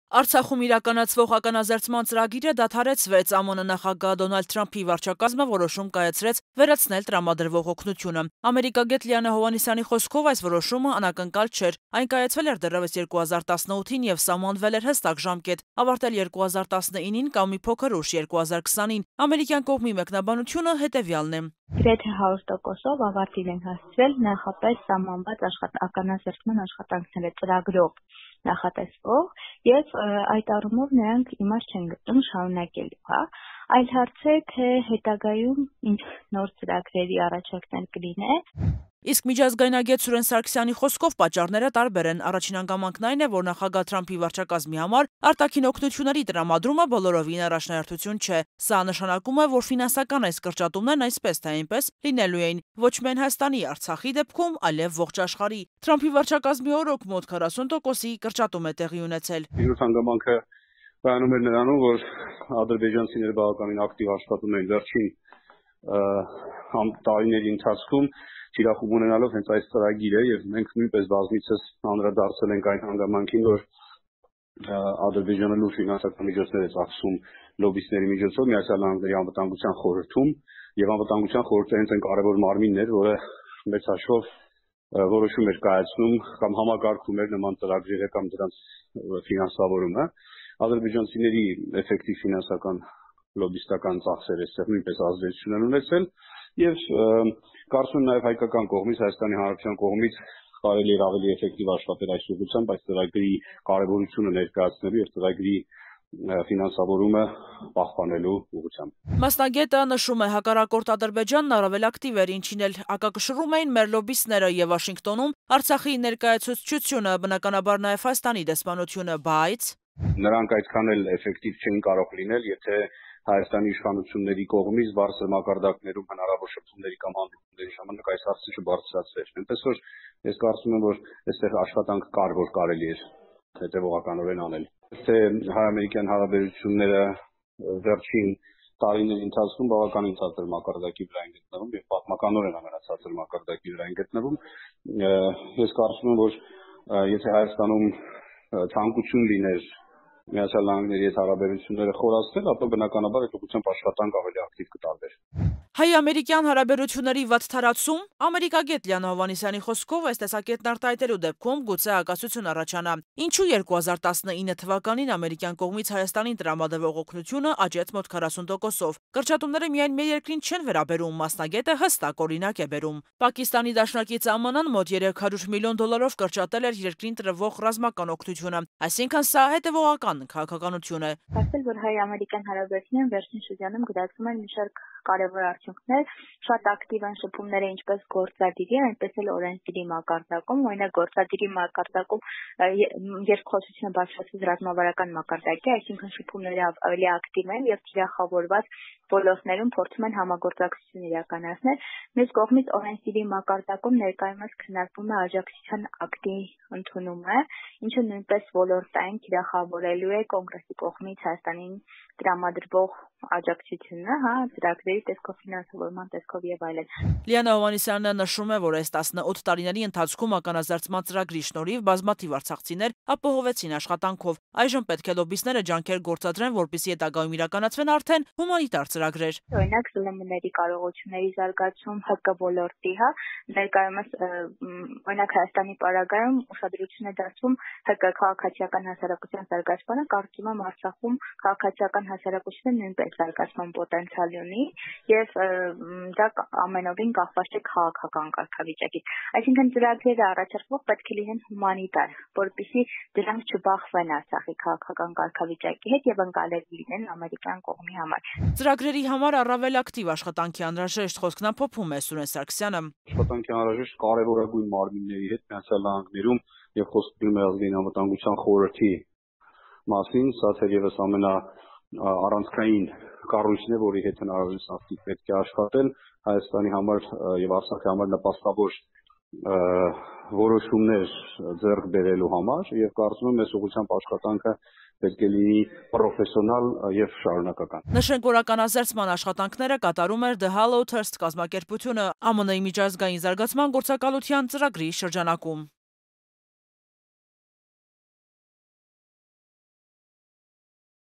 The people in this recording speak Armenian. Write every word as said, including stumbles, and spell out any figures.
Արցախում իրականացվող ականազերծման ծրագիրը դադարեցվեց։ ԱՄՆ նախագահ Դոնալդ Թրամփի վարչակազմը որոշում կայացրեց վերացնել տրամադրվող օգնությունը։ Ամերիկագետ Լիանա Հովհաննիսյանի խոսքով այս որոշումը անակնկալ չէր։ Այն կայացվել էր դեռևս երկու հազար տասնութին եւ սահմանվել էր հստակ ժամկետ, ավարտել երկու հազար տասնինին կամ մի փոքր ուշ երկու հազար քսանին։ Ամերիկյան կողմի մեկնաբանությունը հետեւյալն է. Գրեթե հարյուր տոկոսով ավարտին են հասցրել նախապես սահմանված ականազերծման աշխատանքները ծրագրով նախատեսվող եւ այդ առումով նրանք իմաստ չեն գտնում շարունակելու, հա, այլ հարց է, թե հետագայում ինչ նոր ծրագրերի առաջարկներ կլինեն։ Իսկ միջազգայնագետ Սուրեն Սարգսյանի խոսքով պատճառները տարբեր են։ Առաջին հանգամանքն այն է, որ նախագահ Թրամփի վարչակազմի համար արտաքին օգնությունների տրամադրումը բոլորովին առաջնահերթություն չէ։ Սա նշանակում է, որ ֆինանսական այս կրճատումներն այսպես թե այնպես լինելու էին ոչ միայն Հայաստանի, Արցախի դեպքում, այլև ողջ աշխարհի։ Թրամփի վարչակազմի օրոք մոտ քառասուն տոկոսի կրճատում է տեղի ունեցել։ Մյուս հանգամանքը բանում էր նրանում, որ ադրբեջանցիները բավականին ակտիվ աշխատում էին վերջին տարիների ընթացքում Իրախում ունենալով հենց այս ծրագիրը եւ մենք նույնպես բազմիցս անդրադարձել ենք այն հանգամանքին, որ Ադրբեջանը լուրջ ֆինանսական միջոցներ է ծախսում լոբբիստների միջոցով Միացյալ Նահանգների անվտանգության խորհրդում եւ անվտանգության խորհուրդը հենց այն կարևոր մարմինն էր, որը մեծ հաշվով որոշում էր կայացնում կամ համակարգում էր նման ծրագրերը կամ դրանց ֆինանսավորումը։ Ադրբեջանցիների էֆեկտիվ ֆինանսական լոբբիստական ծախսերը այստեղ նույնպես ազդեցություն են ունեցել եւ կարծում եմ նաեւ հայկական կողմից, Հայաստանի Հանրապետության կողմից կարելի է ավելի էֆեկտիվ աշխատել այս ուղղությամբ, այս ծրագրի կարևորությունը ներկայացնելու եւ ծրագրի ֆինանսավորումը պահպանելու ուղղությամբ։ Մասնագետը նշում է, հակառակորդ Ադրբեջանն առավել ակտիվ էր, ինչին էլ հակակշռում էին մեր լոբբիստները եւ Վաշինգտոնում Արցախի ներկայացուցչությունը, բնականաբար նաեւ Հայաստանի դեսպանությունը, բայց նրանք այդքան էլ էֆեկտիվ չէին կարող լինել, եթե Հայաստանի իշխանությունների կողմից բարձր մակարդակներում հնարավոր շփումների կամ հանդիպումների ժամանակ այս հարցը չբարձրացվեր։ Այնպես որ ես կարծում եմ, որ այստեղ աշխատանք կար, որ կարելի էր հետևողականորեն անել։ Թե հայ-ամերիկյան հարաբերությունները վերջին տարիների ընթացքում բավականին ցածր մակարդակի վրա են գտնվում եւ պատմականորեն ամենացածր մակարդակի վրա են գտնվում։ Ես կարծում եմ, որ եթե Հայաստանում ցանկություն լիներ Միացյալ Նահանգների հետ հարաբերությունները խորացնել, ապա բնականաբար այդ ուղղությամբ աշխատանք ավելի ակտիվ կտարվեր։ Հայ-ամերիկյան հարաբերությունների վատթարացում ամերիկագետ Լիանա Հովհաննիսյանի խոսքով այս տեսակետն արտահայտելու դեպքում գուցե ակասություն առաջանա։ Ինչու երկու հազար տասնինը թվականին ամերիկյան կողմից Հայաստանին տրամադրվող օգնությունը աճեց մոտ քառասուն տոկոսով։ Կրճատումները միայն մեր երկրին չեն վերաբերում, մասնագետը հստակ օրինակ է բերում։ Պակիստանի դաշնակից ԱՄՆ-ն մոտ երեք հարյուր միլիոն դոլարով կրճատել էր երկրին տրվող ռազմական օգնությունը, այսինքն սա հետևողական քաղաքականություն է։ Ասել, որ հայ-ամերիկյան հարաբերությունները վերջին շրջանում գրանցում են մի շարք կարևոր արդյունքներ, շատ ակտիվ են շփումները ինչպես գործադիրի, այնպես էլ օրենսդրի մակարդակում, օրինակ գործադիրի մակարդակում երկխոսությունը բարձրացած ռազմավարական մակարդակի, այսինքն շփումները ավելի ակտիվ են եւ թիրախավորված ոլորտներում փորձում են համագործակցություն իրականացնել։ Մյուս կողմից օրենսդրի մակարդակում ներկայումս քննարկվում է աջակցության ակտի ընդունումը, ինչը նույնպես ոլորտային թիրախավորելու է կոնգրեսի կողմից Հայաստանին տրամադրվող աջակցությունը, հա, ծրագրերի տեսքով, ֆինանսավորման տեսքով եւ այլն։ Լիանա Հովհաննիսյանը նշում է, որ այս տասնութ տարիների ընթացքում ականազերծման ծրագրի շնորհիվ բազմաթիվ արցախցիներ ապահովեցին աշխատանքով։ Այժմ պետք է լոբբիստները ջանքեր գործադրեն, որպեսզի հետագայում իրականացվեն արդեն հումանիտար ծրագրեր։ Օրինակ ԶԼՄ-ների կարողությունների զարգացում, ՀԿ ոլորտի, հա, ներկայումս օրինակ Հայաստանի պարագայում ուշադրություն է դարձվում ՀԿ քաղաքացիական հասարակության զարգացմանը, կարծում եմ Արցախում քաղաքացիական հասարակությունը նույնպես զարգացման պոտենցիալ ունի եւ դա ամենովին կախված է քաղաքական կարգավիճակից։ Այսինքն ծրագրերը առաջարկվող պետք է լինեն հումանիտար, որպեսզի դրանք չբախվեն Արցախի քաղաքական կարգավիճակի հետ եւ ընկալելի լինեն ամերիկյան կողմի համար։ Ծրագրերի համար առավել ակտիվ աշխատանքի անհրաժեշտ խոսքն ամփոփում է Սուրեն Սարգսյանը։ Աշխատանքի անհրաժեշտ կարևորագույն մարմինների հետ Միացյալ Նահանգներում եւ խոսքը գնում է ազգային անվտանգության խորհրդի մասին, սա թերևս ամենա առանցքային կառույցն է, որի հետ հնարավորինս ակտիվ պետք է աշխատել Հայաստանի համար եւ Արցախի համար նպաստավոր որոշումներ ձեռք բերելու համար եւ կարծում եմ այս ուղղությամբ աշխատանքը պետք է լինի պրոֆեսիոնալ եւ շարունակական։ Նշենք, որ ականազերծման աշխատանքները կատարում էր The Hollow Trust կազմակերպությունը ԱՄՆ-ի միջազգային զարգացման գործակալության ծրագրի շրջանակում։